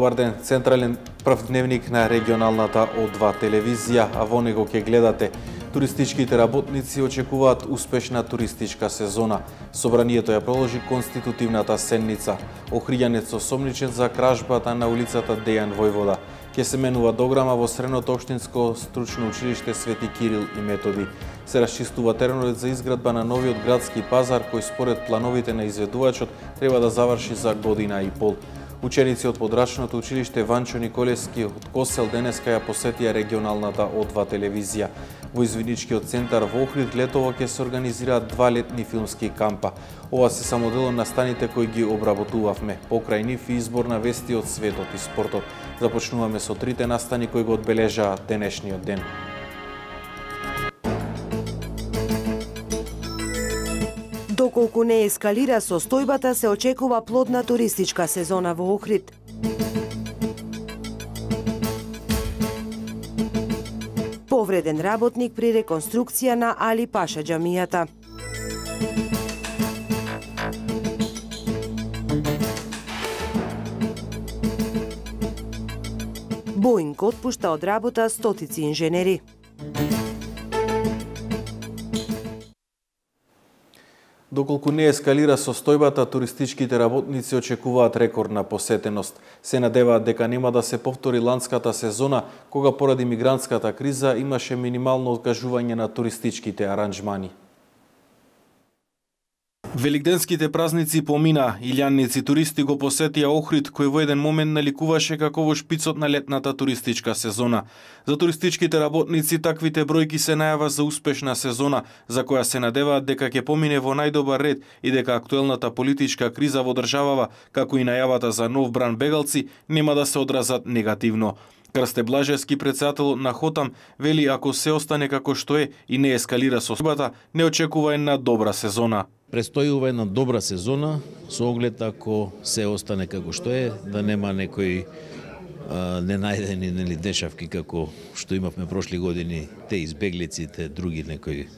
Добар ден, централен прв дневник на регионалната О2 телевизија, а во него ќе гледате: туристичките работници очекуваат успешна туристичка сезона. Собранието ја проложи конститутивната седница. Охриѓанец осомничен за кражбата на улицата Дејан Војвода. Ќе се менува дограма во Средното општинско стручно училиште Свети Кирил и Методи. Се расчистува теренот за изградба на новиот градски пазар, кој според плановите на изведувачот треба да заврши за година и пол. Ученици од подрачното училиште Ванчо Николевски од Косел денеска ја посетија регионалната О2 телевизија. Во извидничкиот центар во Охрид летово ќе се организираат 2 летни филмски кампа. Ова се само дел од настаните кои ги обработувавме. Покрај нив и избор на вести од светот и спортот. Започнуваме со трите настани кои го одбележаа денешниот ден. Доколку не ескалира состојбата, се очекува плодна туристичка сезона во Охрид. Повреден работник при реконструкција на Али Паша џамијата. Боинг отпушта од работа стотици инженери. Доколку не ескалира состојбата, туристичките работници очекуваат рекордна посетеност. Се надеваат дека нема да се повтори ланската сезона, кога поради мигрантската криза имаше минимално откажување на туристичките аранжмани. Великденските празници помина, илјанници туристи го посетија Охрид, кој во еден момент наликуваше како во шпицот на летната туристичка сезона. За туристичките работници таквите бројки се најава за успешна сезона, за која се надеваат дека ќе помине во најдобар ред и дека актуелната политичка криза во државава, како и најавата за нов бран бегалци, нема да се одразат негативно. Крсте Блажевски, председател на Хотам, вели ако се остане како што е и не ескалира состојбата, не очекува една добра сезона. Престојува една добра сезона, со оглед ако се остане како што е, да нема некои ненајдени дешавки како што имавме прошли години, те избеглиците, други некои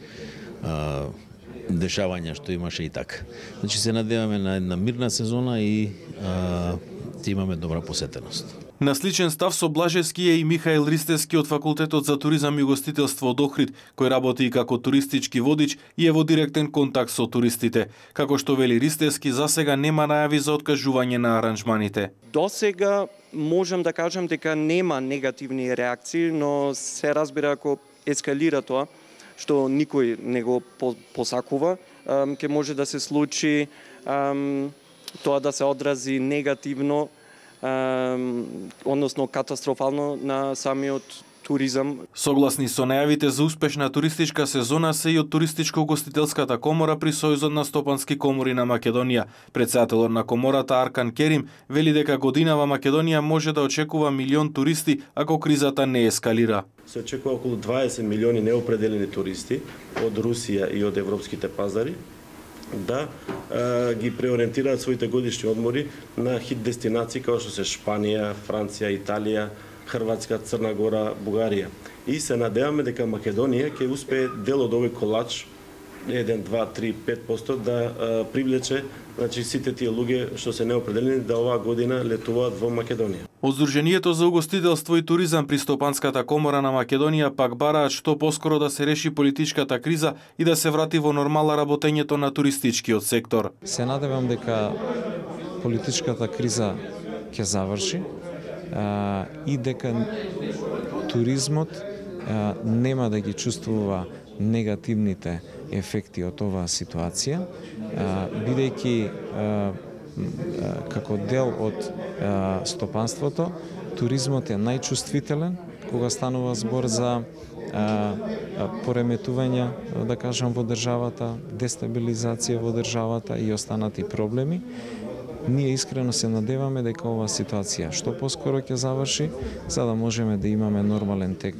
дешавања што имаше и така. Значи се надеваме на една мирна сезона и ќе имаме добра посетеност. На сличен став со Блажевски е и Михаил Ристевски од Факултетот за туризам и угостителство од Охрид, кој работи и како туристички водич и е во директен контакт со туристите. Како што вели Ристевски, засега нема најави за откажување на аранжманите. До сега можам да кажам дека нема негативни реакции, но се разбира ако ескалира тоа, што никој не го посакува, ќе може да се случи тоа да се одрази негативно, односно катастрофално на самиот туризам. Согласни со најавите за успешна туристичка сезона се и од Туристичко-угостителската комора при Сојузот на стопански комори на Македонија. Председателот на комората Аркан Керим вели дека годинава Македонија може да очекува 1 милион туристи ако кризата не ескалира. Се очекува околу 20 милиони неопределени туристи од Русија и од европските пазари да ги преориентираат своите годишни одмори на хит дестинации како што се Шпанија, Франција, Италија, Хрватска, Црна Гора, Бугарија. И се надеваме дека Македонија ќе успее дел од овој колач 1, 2, 3, 5% да привлече, значи сите тие луѓе што се неопределени да оваа година летуваат во Македонија. Од Сдруженијето за угостителство и туризам при Стопанската комора на Македонија пак бараат што поскоро да се реши политичката криза и да се врати во нормала работењето на туристичкиот сектор. Се надевам дека политичката криза ќе заврши и дека туризмот нема да ги чувствува негативните ефекти од оваа ситуација, бидејќи како дел од стопанството, туризмот е најчувствителен кога станува збор за пореметување, да кажам, во државата, дестабилизација во државата и останати проблеми. Ние искрено се надеваме дека оваа ситуација што поскоро ќе заврши, за да можеме да имаме нормален тек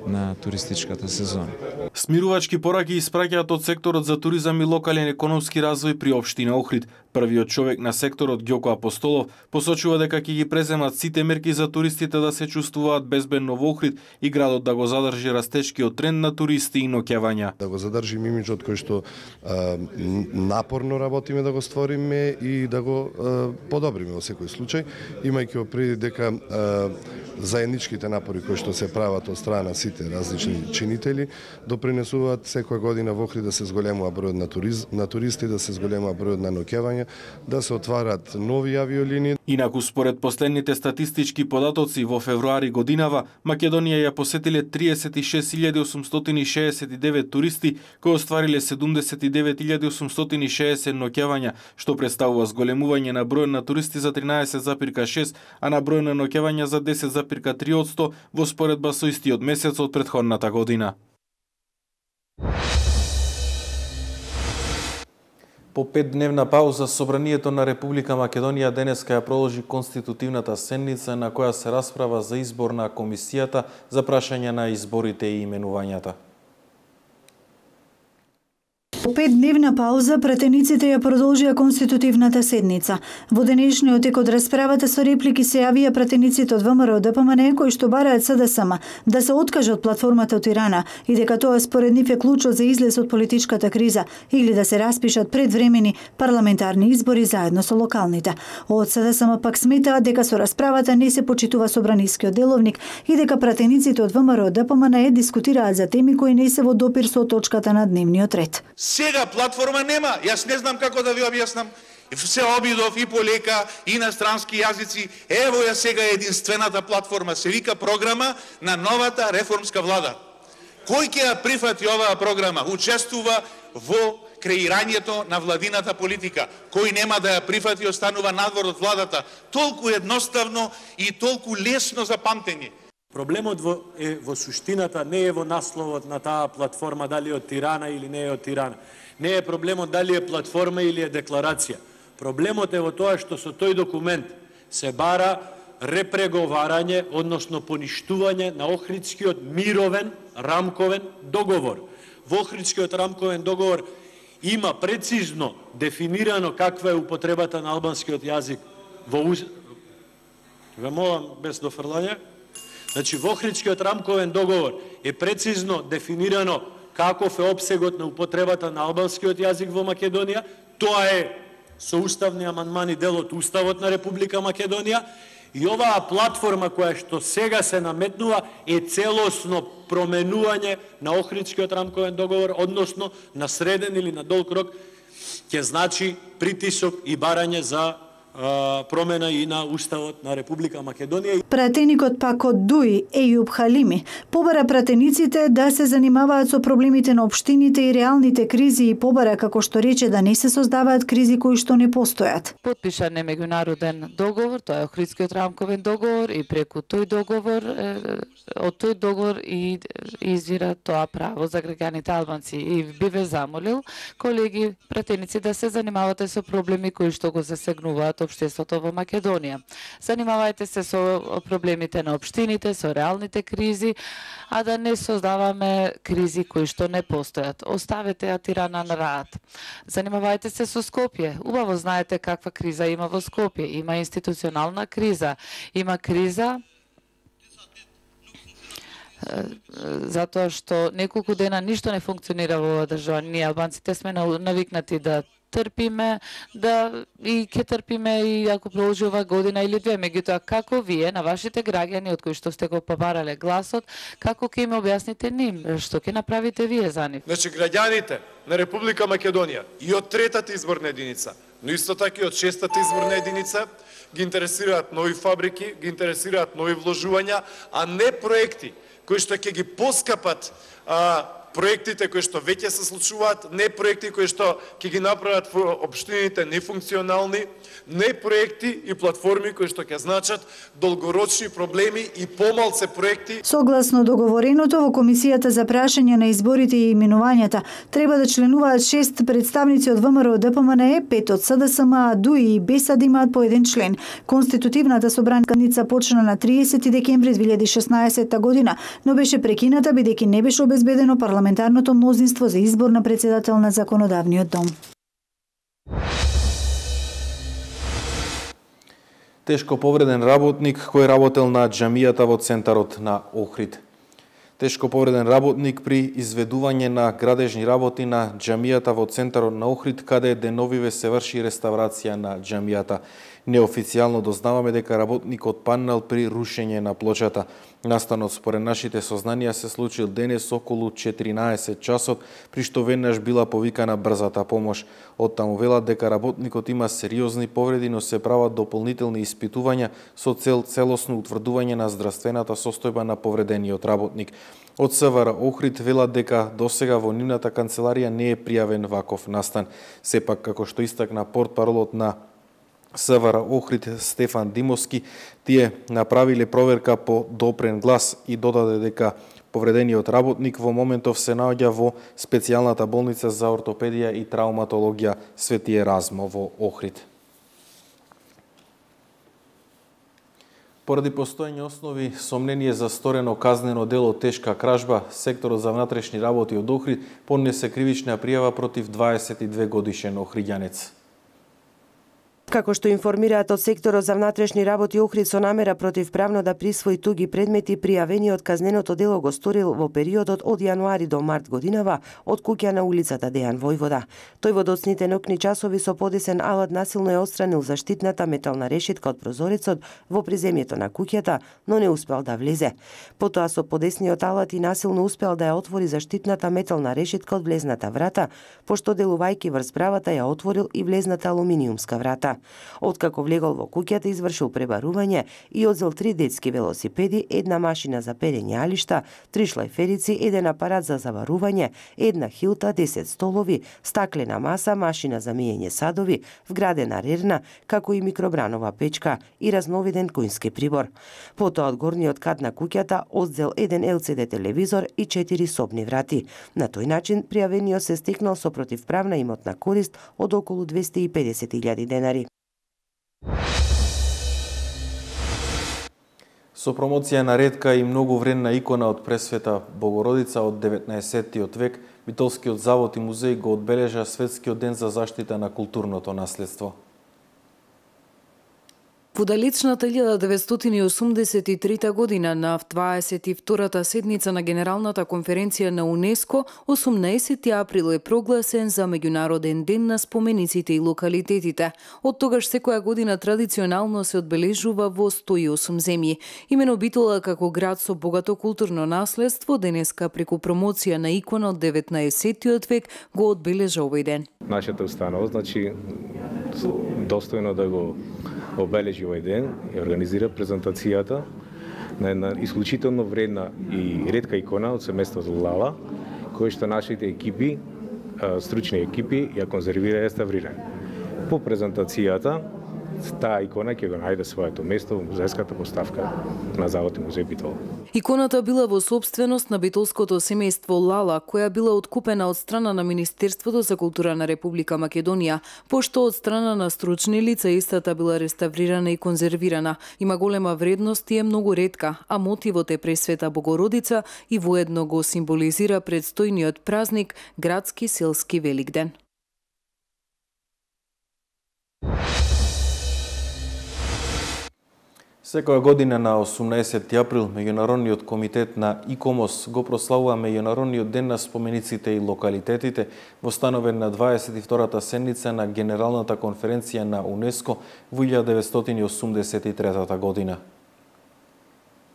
на туристичката сезона. Смирувачки пораки испраќаат од секторот за туризам и локален економски развој при општина Охрид. Првиот човек на секторот, Ѓоко Апостолов, посочува дека ќе ги преземат сите мерки за туристите да се чувствуваат безбедно во Охрид и градот да го задржи растечкиот тренд на туристи и ноќевања. Да го задржиме имиџот кој што напорно работиме да го створиме и да го подобриме во секој случај, имајќи преди дека заедничките напори кои што се прават од страна сите различни чинители допринесуваат секоја година во Охрид да се зголемува бројот на туристи, да се зголемува бројот на ноќевања, да се отварат нови авиолинии. Инаку според последните статистички податоци во февруари годинава Македонија ја посетиле 36.869 туристи кои оствариле 79.860 ноќевања, што представува зголемување на бројот на туристи за 13,6, а на број на ноќевања за 10,3% во споредба со истиот месец од претходната година. По 5-дневна пауза, Собранието на Република Македонија денеска ја проложи конститутивната седница на која се расправа за избор на комисијата за прашање на изборите и именувањата. По 5-дневна пауза, пратениците ја продолжија конститутивната седница. Во денешниот тек од расправата со реплики се јавија пратениците од ВМРО ДПМН кои што бараат СДСМ да се откаже од платформата од Тирана и дека тоа според нив е клучот за излез од политичката криза или да се распишат предвремени парламентарни избори заедно со локалните. Од СДСМ пак сметаат дека со расправата не се почитува собранискиот деловник и дека пратениците од ВМРО ДПМН дискутираат за теми кои не се во допир со точката на дневниот ред. Сега платформа нема, јас не знам како да ви објаснам. Се обидов и по лека, и на странски јазици. Ево ја сега единствената платформа, се вика програма на новата реформска влада. Кој ќе ја прифати оваа програма? Учествува во креирањето на владината политика. Кој нема да ја прифати, останува надвор од владата. Толку едноставно и толку лесно за памтење. Проблемот е во суштината, не е во насловот на таа платформа, дали е од Тирана или не е од Тирана. Не е проблемот дали е платформа или е декларација. Проблемот е во тоа што со тој документ се бара репреговарање, односно поништување на Охридскиот мировен рамковен договор. Во Охридскиот рамковен договор има прецизно дефинирано каква е употребата на албанскиот јазик во Ве молам без дофрлање. Значи, во Охридскиот рамковен договор е прецизно дефинирано каков е опсегот на употребата на албанскиот јазик во Македонија. Тоа е со уставни амандмани дел од Уставот на Република Македонија. И оваа платформа која што сега се наметнува е целосно променување на Охридскиот рамковен договор, односно на среден или на долг рок, ќе значи притисок и барање за промена и на Уставот на Република Македонија. Пратеникот пак од ДУИ, Ејуб Халими, побара пратениците да се занимаваат со проблемите на општините и реалните кризи и побара, како што рече, да не се создаваат кризи кои што не постојат. Подпишан е меѓународен договор, тоа е Охридскиот рамковен договор и преку тој договор, од тој договор и извира тоа право за граѓаните албанци. И би ве замолил, колеги пратеници, да се занимавате со проблеми кои што го засегнуваат општеството во Македонија. Занимавајте се со проблемите на општините, со реалните кризи, а да не создаваме кризи кои што не постојат. Оставете ја Тирана на раат. Занимавајте се со Скопје. Убаво знаете каква криза има во Скопје. Има институционална криза. Има криза затоа што неколку дена ништо не функционира во оваа држава. Ние албанците сме навикнати да трпиме, да и ќе трпиме и ако продолжи ова година или две. Меѓутоа, како вие на вашите граѓани од кои што сте го побарале гласот, како ќе им објасните ним, што ќе направите вие за нив? Значи, граѓаните на Република Македонија и од третата изборна единица, но исто така и од шестата изборна единица, ги интересираат нови фабрики, ги интересираат нови вложувања, а не проекти кои што ќе ги поскапат проектите кои што веќе се случуваат, не проекти кои што ќе ги направат општините нефункционални, не проекти и платформи кои што ќе значат долгорочни проблеми и помалце проекти. Согласно договореното во Комисијата за прашање на изборите и именувањата треба да членуваат 6 представници од ВМРО ДПМНЕ, 5 од СДСМ, ДУИ и БЕСАД имаат по еден член. Конститутивната собранканица почна на 30 декември 2016 година, но беше прекината бидејќи не беше обезбедено парламентарното мнозинство за избор на председател на Законодавниот дом. Тешко повреден работник кој работел на џамијата во центарот на Охрид. Тешко повреден работник при изведување на градежни работи на џамијата во центарот на Охрид, каде деновиве се врши реставрација на џамијата. Неофицијално дознаваме дека работникот паннал при рушење на плочата. Настанот според нашите сознанија се случил денес околу 14 часот, при што веднаш била повикана брзата помош. Оттаму велат дека работникот има сериозни повреди, но се прават дополнителни испитувања со цел целосно утврдување на здравствената состојба на повредениот работник. Од СВР Охрид велат дека досега во нивната канцеларија не е пријавен ваков настан. Сепак, како што истакна портпаролот на СВР Охрид Стефан Димовски, тие направиле проверка по допрен глас и додаде дека повредениот работник во моментов се наоѓа во специјалната болница за ортопедија и травматологија Свети Еразмо во Охрид. Поради постоење основи сомнение за сторено казнено дело тешка кражба, секторот за внатрешни работи од Охрид поднесе кривична пријава против 22 годишен охриѓанец. Како што информираат од секторот за внатрешни работи Охрид, со намера против правно да присвои туги предмети, пријавениот казненото дело го сторил во периодот од јануари до март годинава од куќа на улицата Дејан Војвода. Тој во доцните ноќни часови со подесен алат насилно ја отстранил заштитната метална решетка од прозорецот во приземјето на куќата, но не успел да влезе. Потоа со подесниот алат и насилно успел да ја отвори заштитната метална решетка од влезната врата, пошто делувајќи врз правата ја отворил и влезната алуминиумска врата. Откако влегол во куќата, извршил пребарување и одзел 3 детски велосипеди, една машина за перење алишта, 3 шлајферици, еден апарат за заварување, една хилта, 10 столови, стаклена маса, машина за миење садови, вградена рерна, како и микробранова печка и разновиден коњски прибор. Потоа од горниот кат на куќата одзел еден LCD телевизор и 4 собни врати. На тој начин пријавениот се стекнал со противправна имотна корист од околу 250.000 денари. Со промоција на ретка и многу вредна икона од Пресвета Богородица од 19. век, Битолскиот завод и музеј го одбележа Светскиот ден за заштита на културното наследство. Во далечната 1983 година на 22-та седница на Генералната конференција на УНЕСКО, 18 април е прогласен за Меѓународен ден на спомениците и локалитетите. Од тогаш секоја година традиционално се одбележува во 108 земји. Имено Битола како град со богато културно наследство денеска преку промоција на икона од 19. век го одбележа овој ден. Нашата установа, значи, достојно да го обележи овој ден и организира презентацијата на една исклучително вредна и ретка икона од семејството Лала, која што нашите екипи, стручни екипи, ја конзервира и реставрира. По презентацијата, таа икона ќе го најде своето место во музејската поставка на Завод и музеј Битола. Иконата била во собственост на битолското семејство Лала, која била откупена од страна на Министерството за култура на Република Македонија, пошто од страна на стручни лица истата била реставрирана и конзервирана. Има голема вредност и е многу ретка, а мотивот е Пресвета Богородица и воедно го символизира предстојниот празник, градски селски Великден. Секоја година на 18 април Меѓународниот комитет на ИКОМОС го прославува Меѓународниот ден на спомениците и локалитетите, востановен на 22-та седница на Генералната конференција на УНЕСКО во 1983 година.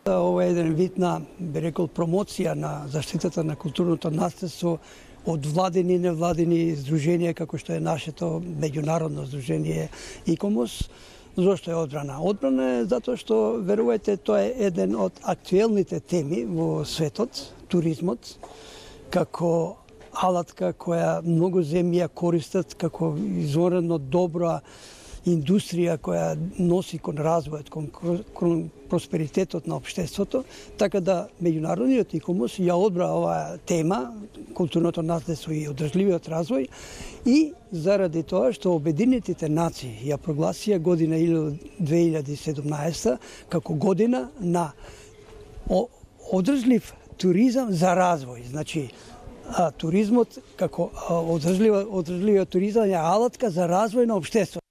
Ова е еден вид на, би рекол, промоција на заштитата на културното наследство од владени и невладени здруженија, како што е нашето меѓународно здружение ИКОМОС. Зошто е одбрана? Одбрана е затоа што, верувајте, тоа е еден од актуелните теми во светот, туризмот, како алатка која многу земји ја користат како изонредно добра индустрија која носи кон развојот, кон просперитетот на општеството, така да меѓународниот ИКОМОС ја одбра оваа тема, културното наследство и одржливиот развој, и заради тоа што Обединетите нации ја прогласија година 2017 како година на одржлив туризам за развој. Значи, туризмот како одржливиот туризам е алатка за развој на општеството.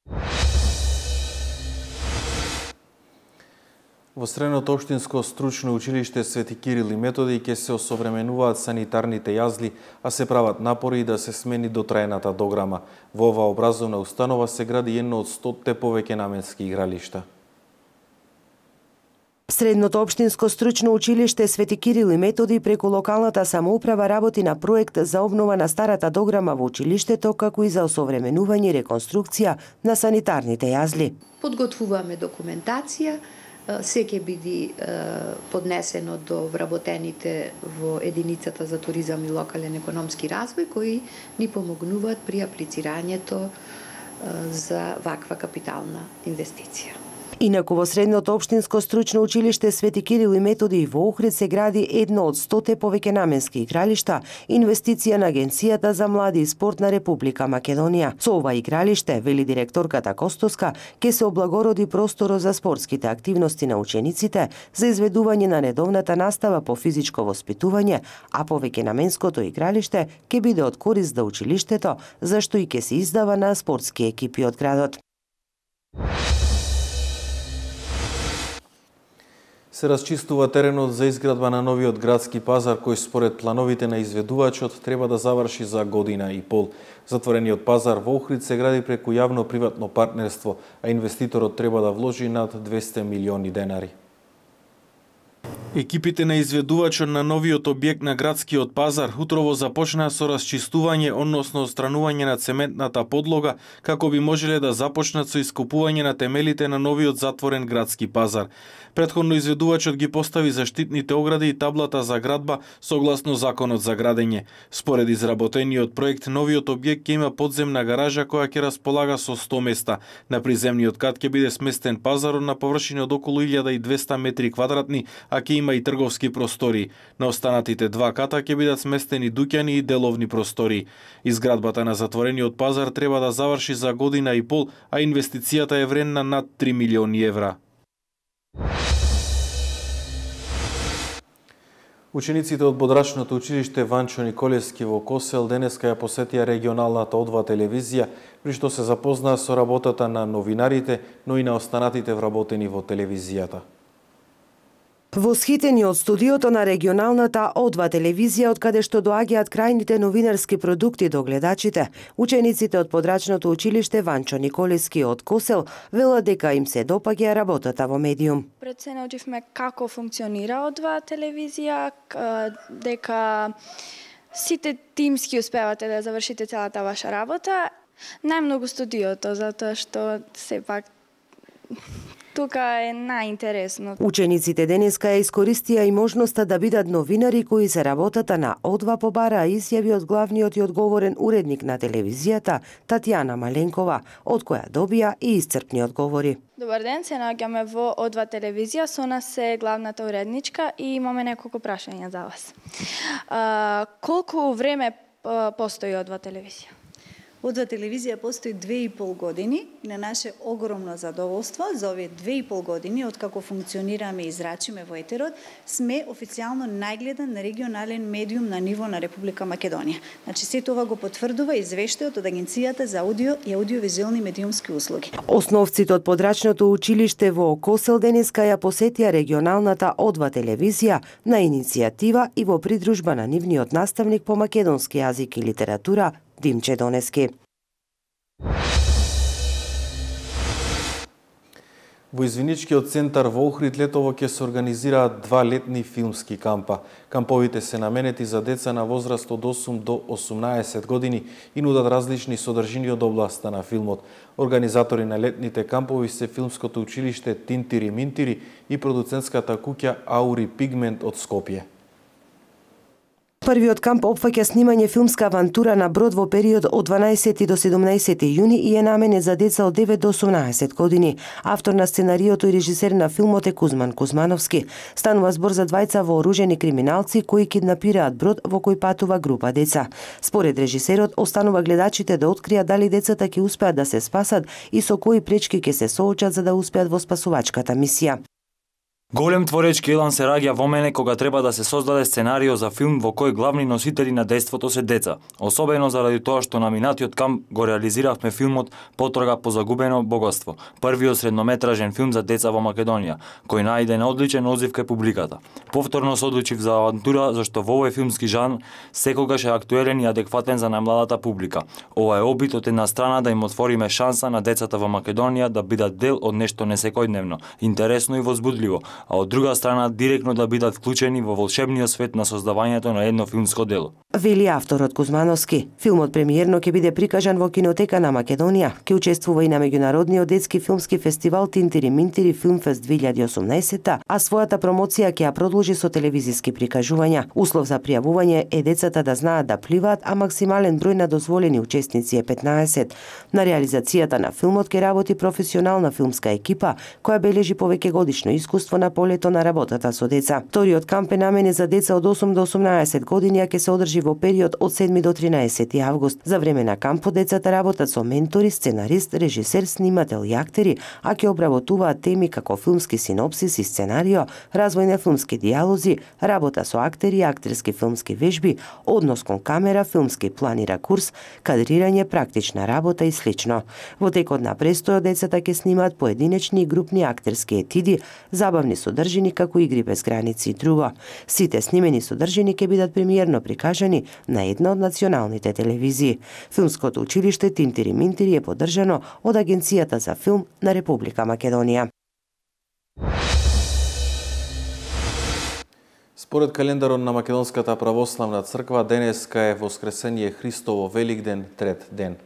Во Средното општинско стручно училиште Свети Кирил и Методи ќе се осовременуваат санитарните јазли, а се прават напори да се смени дотраената дограма. Во оваа образовна установа се гради едно од 100 повеќе наменски игралишта. Средното општинско стручно училиште Свети Кирил и Методи преку локалната самоуправа работи на проект за обнова на старата дограма во училиштето, како и за осовременување и реконструкција на санитарните јазли. Подготвуваме документација, се ќе биде поднесено до вработените во единицата за туризам и локален економски развој, кои ни помогнуваат при аплицирањето за ваква капитална инвестиција. Инаку во Средното општинско стручно училиште Свети Кирил и Методи и во Охрид се гради едно од 100 повеќе наменски игралишта, инвестиција на Агенцијата за млади и спорт на Република Македонија. Со ова игралиште, вели директорката Костоска, ќе се облагороди просторо за спортските активности на учениците, за изведување на редовната настава по физичко воспитување, а повеќе наменското игралиште ќе биде од корист за училиштето, зашто и ќе се издава на спортски екипи од градот. Се расчистува теренот за изградба на новиот градски пазар, кој според плановите на изведувачот треба да заврши за година и пол. Затворениот пазар во Охрид се гради преку јавно-приватно партнерство, а инвеститорот треба да вложи над 200 милиони денари. Екипите на изведувачот на новиот објект на градскиот пазар утрово започнаа со расчистување, односно отстранување на цементната подлога, како би можеле да започнат со ископување на темелите на новиот затворен градски пазар. Претходно изведувачот ги постави заштитните огради и таблата за градба согласно законот за градење. Според изработениот проект, новиот објект ќе има подземна гаража која ќе располага со 100 места. На приземниот кат ќе биде сместен пазарот на површина од околу 1200 метри квадратни, а ќе има и трговски простори. На останатите два ката ќе бидат сместени дуќани и деловни простори. Изградбата на затворениот пазар треба да заврши за година и пол, а инвестицијата е вредна над 3 милиони евра. Учениците од Бодрачното училиште Ванчо Николевски во Косел денеска ја посетија регионалната О2 телевизија, при што се запознаа со работата на новинарите, но и на останатите вработени во телевизијата. Восхитени од студиото на регионалната О2 телевизија, од каде што доаѓаат крајните новинарски продукти до гледачите, учениците од Подрачното училиште Ванчо Николевски од Косел велат дека им се допаѓа работата во медиум. Пред се научивме како функционира О2 телевизија, дека сите тимски успевате да завршите целата ваша работа. Најмногу студиото, затоа што сепак тука е најинтересно. Учениците денеска ја искористија и можноста да бидат новинари кои за работата на О2 побараа изјави од главниот и одговорен уредник на телевизијата Татјана Маленкова, од која добија и исцрпни одговори. Добар ден, се наоѓаме во О2 телевизија, со нас е главната уредничка и имаме неколку прашања за вас. Колку време постои О2 телевизија? О2 телевизија постои 2,5 години и на наше огромно задоволство за овие 2,5 години откако функционираме и зрачиме во етерот, сме официјално најгледан регионален медиум на ниво на Република Македонија. Значи се тоа го потврдува извештајот од Агенцијата за аудио и аудиовизуелни медиумски услуги. Основците од Подрачното училиште во Косел денеска ја посетија регионалната О2 телевизија на иницијатива и во придружба на нивниот наставник по македонски јазик и литература Димче Донески. Во извиничкиот центар во Охрид летово ќе се организираат 2 летни филмски кампа. Камповите се наменети за деца на возраст од 8 до 18 години и нудат различни содржини од областа на филмот. Организатори на летните кампови се филмското училиште Тинтири Минтири и продуцентската куќа Аури Пигмент од Скопје. Првиот камп опфаќа снимање филмска авантура на брод во период од 12 до 17 јуни и е наменет за деца од 9 до 18 години. Автор на сценариото и режисер на филмот е Кузман Кузмановски. Станува збор за двајца вооружени криминалци кои киднапираат брод во кој патува група деца. Според режисерот, останува гледачите да откријат дали децата ќе успеат да се спасат и со кои пречки ќе се соочат за да успеат во спасувачката мисија. Голем творечки елан се раѓа во мене кога треба да се создаде сценарио за филм во кој главни носители на дејството се деца. Особено заради тоа што на минатиот камп го реализиравме филмот Потрага по загубено богатство, првиот среднометражен филм за деца во Македонија, кој најде на одличен одзив кај публиката. Повторно се одлучив за авантура зашто во овој филмски жанр секогаш е актуелен и адекватен за најмладата публика. Ова е обид од една страна да им отвориме шанса на децата во Македонија да бидат дел од нешто несекојдневно, интересно и возбудливо, а од друга страна директно да бидат вклучени во волшебниот свет на создавањето на едно филмско дело. Вели авторот Кузмановски. Филмот премиерно ќе биде прикажан во Кинотека на Македонија. Ќе учествува и на меѓународниот детски филмски фестивал Тинтири Минтири Филмфест 2018, а својата промоција ќе ја продолжи со телевизиски прикажувања. Услов за пријавување е децата да знаат да пливаат, а максимален број на дозволени учесници е 15. На реализацијата на филмот ќе работи професионална филмска екипа која бележи повеќе годишно искуство на полето на работата со деца. Вториот камп е наменет за деца од 8 до 18 години, а ќе се одржи во период од 7 до 13 август. За време на кампот децата работат со ментори, сценарист, режисер, снимател и актери, а ќе обработуваат теми како филмски синопсис и сценарио, развој на филмски дијалози, работа со актери, актерски филмски вежби, однос кон камера, филмски план и ракурс, кадрирање, практична работа и слично. Во текот на престојот децата ќе снимаат поединечни и групни актерски етиди, забавни содржини како игри без граници и друго. Сите снимени содржини ќе бидат премиерно прикажани на една од националните телевизии. Филмското училиште Тинтири Минтири е поддржано од Агенцијата за филм на Република Македонија. Според календарот на Македонската православна црква, денеска е Воскресение Христово Великден, трет ден.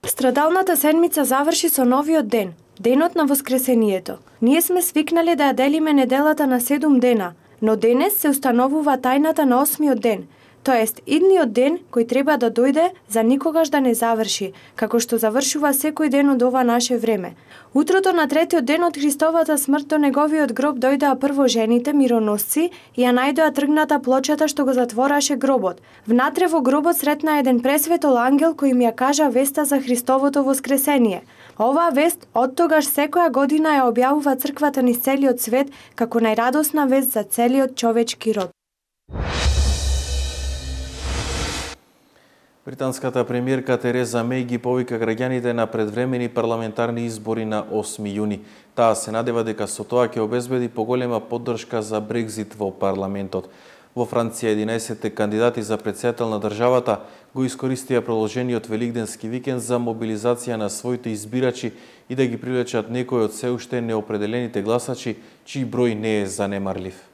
Страдалната седмица заврши со новиот ден, денот на Воскресението. Ние сме свикнале да ја делиме неделата на 7 дена, но денес се установува тајната на 8-миот ден, тоест идниот ден кој треба да дојде за никогаш да не заврши, како што завршува секој ден од ова наше време. Утрото на третиот ден од Христовата смрт до неговиот гроб дојдоа прво жените мироносци и ја најдоа тргната плочата што го затвораше гробот. Внатре во гробот сретна еден пресветол ангел кој им ја кажа веста за Христовото воскресение. Оваа вест оттогаш секоја година ја објавува црквата низ целиот свет како најрадосна вест за целиот човечки род. Британската премиерка Тереза Меј ги повика граѓаните на предвремени парламентарни избори на 8 јуни. Таа се надева дека со тоа ќе обезбеди поголема поддршка за Брекзит во парламентот. Во Франција 11 кандидати за претседател на државата го искористија продолжениот великденски викенд за мобилизација на своите избирачи и да ги привлечат некои од се уште неопределените гласачи, чиј број не е занемарлив.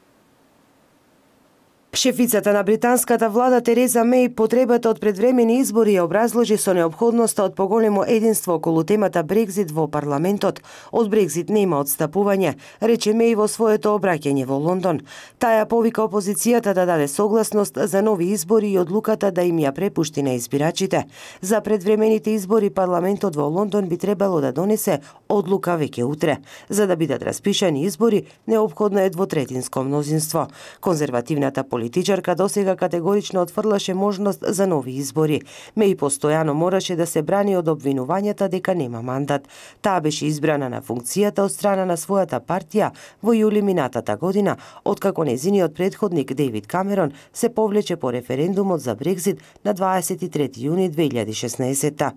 Шефицата на британската влада Тереза Меј потребата од предвремени избори ја образложи со неопходноста од поголемо единство околу темата Брекзит во парламентот. Од Брекзит нема отстапување, рече Меј во своето обраќање во Лондон. Таа повика опозицијата да даде согласност за нови избори и одлуката да им ја препушти на избирачите. За предвремените избори парламентот во Лондон би требало да донесе одлука веќе утре. За да бидат распишани избори, неопходно е двотретинско мнозинство. Конзервативната политичарка досега категорично отфрлаше можност за нови избори. Меј постојано мораше да се брани од обвинувањата дека нема мандат. Таа беше избрана на функцијата од страна на својата партија во јули минатата година, откако незиниот претходник Дејвид Камерон се повлече по референдумот за Брекзит на 23 јуни 2016.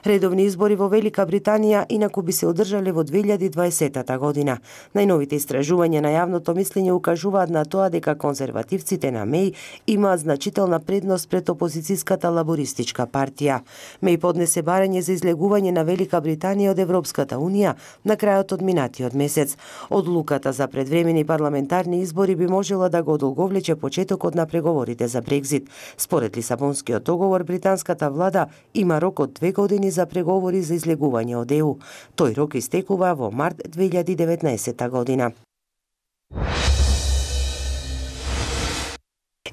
Редовни избори во Велика Британија инаку би се одржале во 2020 година. Најновите истражувања на јавното мислење укажуваат на тоа дека конзервативците на Меј имаат значителна предност пред опозицијската лабористичка партија. Меј поднесе барање за излегување на Велика Британија од Европската Унија на крајот од минатиот месец. Одлуката за предвремени парламентарни избори би можела да го одолговлече почетокот на преговорите за Брекзит. Според Лисабонскиот договор, британската влада има рок од 2 години за преговори за излегување од ЕУ. Тој рок истекува во март 2019 година.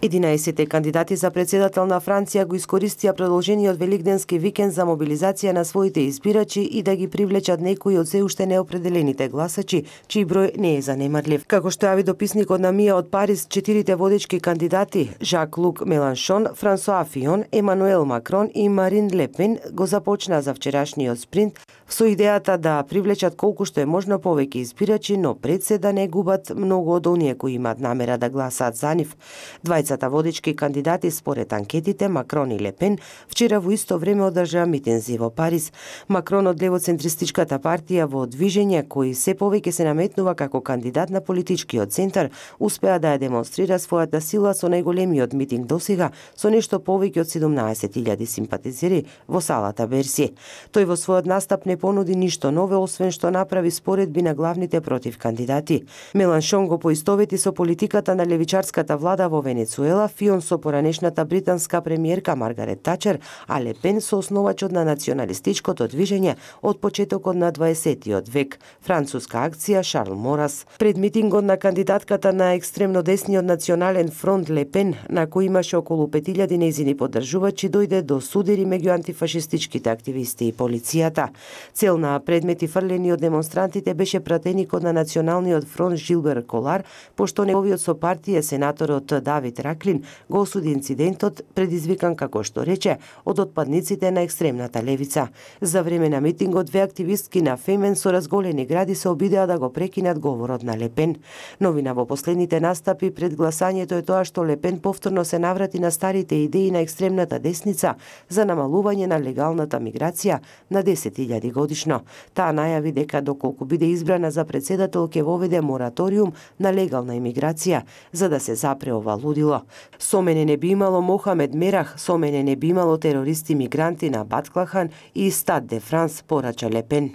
11 кандидати за председател на Франција го искористија продолжениот великденски викенд за мобилизација на своите избирачи и да ги привлечат некои од се уште неопределените гласачи, чиј број не е занемарлив. Како што јави дописникот на МИА од Париз, 4 водечки кандидати Жак-Лук Меланшон, Франсуа Фион, Емануел Макрон и Марин Ле Пен го започнаа за вчерашниот спринт со идејата да привлечат колку што е можно повеќе избирачи, но пред се да не губат многу од оние кои имаат намера да гласаат за нив. Двајцата водечки кандидати според анкетите Макрон и Ле Пен вчера во исто време одржаа митинзи во Париз. Макрон од левоцентристичката партија во движење, кој се повеќе се наметнува како кандидат на политичкиот центар, успеа да ја демонстрира својата сила со најголемиот митинг досега, со нешто повеќе од 17.000 симпатизери во салата Берси. Тој во својот настап не понуди ништо ново, освен што направи споредби на главните против кандидати. Меланшон го поистовети со политиката на левичарската влада во Венецуела, Фион со поранешната британска премиерка Маргарет Тачер, а Ле Пен со основачот на националистичкото движење од почетокот на 20-тиот век, француска акција Шарл Морас. Пред митингот на кандидатката на екстремно десниот национален фронт Ле Пен, на кој имаше околу 5000 нејзини поддржувачи, дојде до судири меѓу антифашистичките активисти и полицијата. Цел на предмети фрлени од демонстрантите беше пратеникот на националниот фронт Жилбер Колар, пошто неговиот сопартија сенаторот Давид Раклин го осуди инцидентот, предизвикан, како што рече, од отпадниците на екстремната левица. За време на митингот две активистки на Фемен со разголени гради се обидеа да го прекинат говорот на Ле Пен. Новина во последните настапи пред гласањето е тоа што Ле Пен повторно се наврати на старите идеи на екстремната десница за намалување на легалната миграција на 10.000 годишно. Таа најави дека доколку биде избрана за председател ќе воведе мораториум на легална имиграција за да се запре ова лудило. Со мене не би имало Мохамед Мерах, со мене не би имало терористи мигранти на Батклахан и Стад де Франс, порача Ле Пен.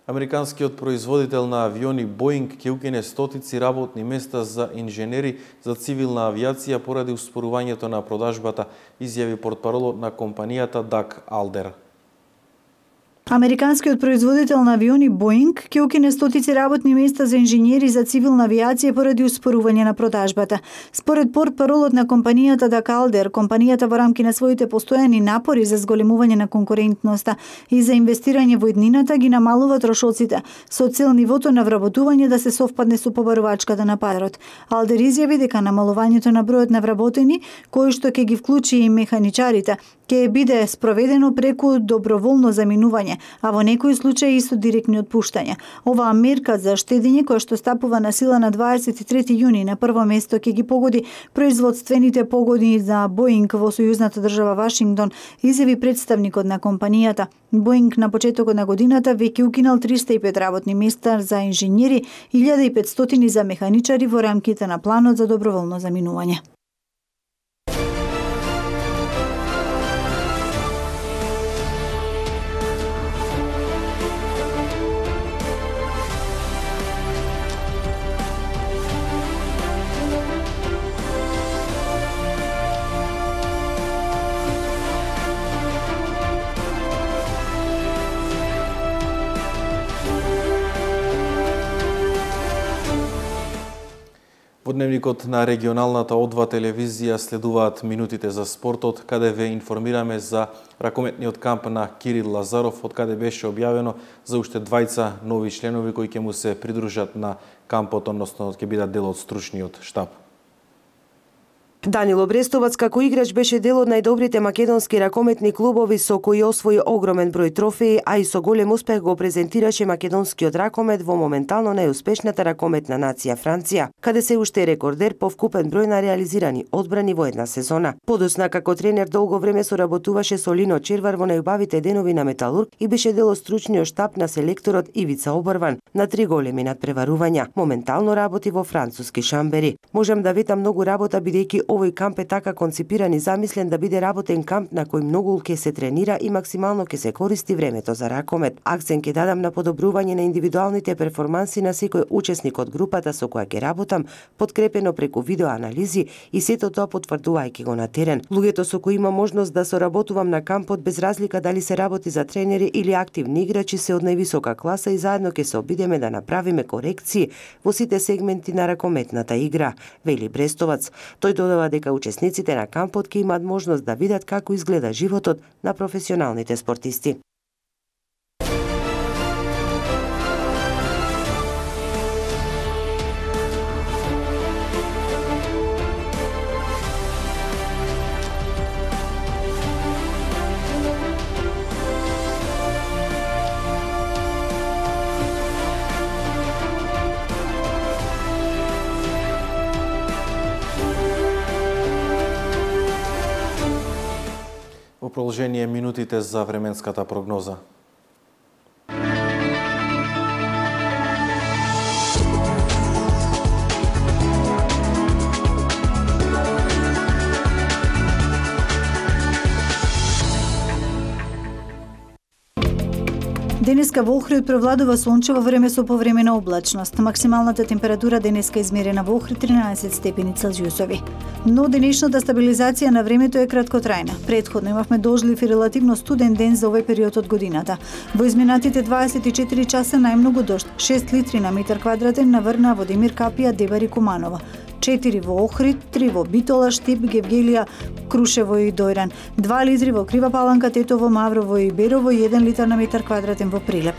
Американскиот производител на авиони Боинг ќе укине стотици работни места за инженери за цивилна авиација поради успорувањето на продажбата, изјави портпаролот на компанијата Даг Алдер. Американскиот производител на авиони Боинг ќе укине стотици работни места за инженери за цивилна авиација поради успорување на продажбата. Според портпаролот на компанијата Даг Алдер, компанијата во рамки на своите постојани напори за зголемување на конкурентноста и за инвестирање во иднината ги намалува трошоците со цел нивото на вработување да се совпадне со побарувачката на пазарот. Алдер изјави дека намалувањето на бројот на вработени, кој што ќе ги вклучи и механичарите, ќе биде спроведено преку доброволно заминување, а во некои случаи и со директни отпуштања. Оваа мерка за штедење, која што стапува на сила на 23 јуни, на прво место ќе ги погоди производствените погоди за Боинг во сојузната држава Вашингтон, изјави представникот на компанијата. Боинг на почетокот на годината веќе укинал 305 работни места за инженери, 1500 за механичари во рамките на планот за доброволно заминување. Во дневникот на регионалната О2 телевизија следуваат минутите за спортот, каде ве информираме за ракометниот камп на Кирил Лазаров, од каде беше објавено за уште двајца нови членови кои ќе му се придружат на кампот, односно ќе бидат дел од стручниот штаб. Данило Брестовац како играч беше дел од најдобрите македонски ракометни клубови со кои освои огромен број трофеи, а и со голем успех го презентираше македонскиот ракомет во моментално најуспешната ракометна нација Франција, каде се уште рекордер по вкупен број на реализирани одбрани во една сезона. Подосна како тренер долго време соработуваше со Лино Червар во најубавите денови на Металург и беше дел од стручниот штаб на селекторот Ивица Обрван на 3 големи надпреварувања. Моментално работи во француски Шамбери. Можам да ветам многу работа бидејќи овој камп е така конципиран и замислен да биде работен камп на кој многу ќе се тренира и максимално ќе се користи времето за ракомет. Акцент ќе дадам на подобрување на индивидуалните перформанси на секој учесник од групата со која ќе работам, подкрепено преку видеоанализи и сето тоа потврдувајќи го на терен. Луѓето со кои има можност да соработувам на кампот без разлика дали се работи за тренери или активни играчи се од највисока класа и заедно ќе се обидеме да направиме корекции во сите сегменти на ракометната игра, вели Брестовац. Тој додава дека учесниците на кампот ќе имаат можност да видат како изгледа животот на професионалните спортисти. Во продолжение минутите за временската прогноза. Денеска во Охрид превладува сончево време со повремена облачност. Максималната температура денеска измерена во Охрид 13 степени Целзиусови. Но денешната стабилизација на времето е краткотрајна. Претходно имавме дожлив и релативно студен ден за овој период од годината. Во изминатите 24 часа најмногу дожд, 6 литри на метар квадратен наврна во Демир Капија, Дебар и Куманово. 4 во Охрид, 3 во Битола, Штип, Гевгелија, Крушево и Дојран, 2 литри во Крива Паланка, Тетово, Маврово и Берово и 1 литар на метар квадратен во Прилеп.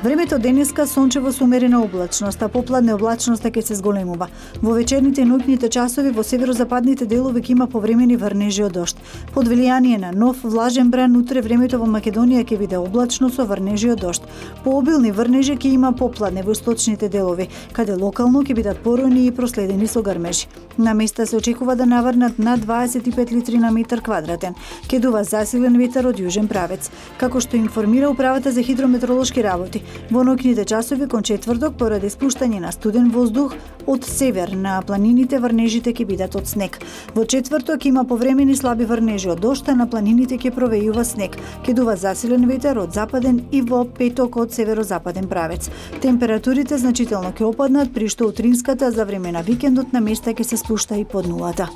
Времето денеска сончево со умерена облачност, а попладне облачноста ќе се зголемува. Во вечерните и ноќните часови во северозападните делови ќе има повремени врнежи од дожд. Под влијание на нов влажен бран утре времето во Македонија ќе биде облачно со врнежи од дожд. Пообилни врнежи ќе има попладне во источните делови, каде локално ќе бидат поројни и проследени со грмежи. На места се очекува да наврнат над 25 литри на метар квадратен. Ќе дува засилен ветер од јужен правец. Како што информира Управата за хидрометеоролошки работи, во ноќните часови кон четврток поради спуштање на студен воздух од север на планините врнежите ќе бидат од снег. Во четврток има повремени слаби врнежи од дожд, а на планините ќе провејува снег. Ќе дува засилен ветер од западен и во петок од северозападен правец. Температурите значително ќе опаднат, при што утринската за време на викендот на места ќе се спушта и под нулата.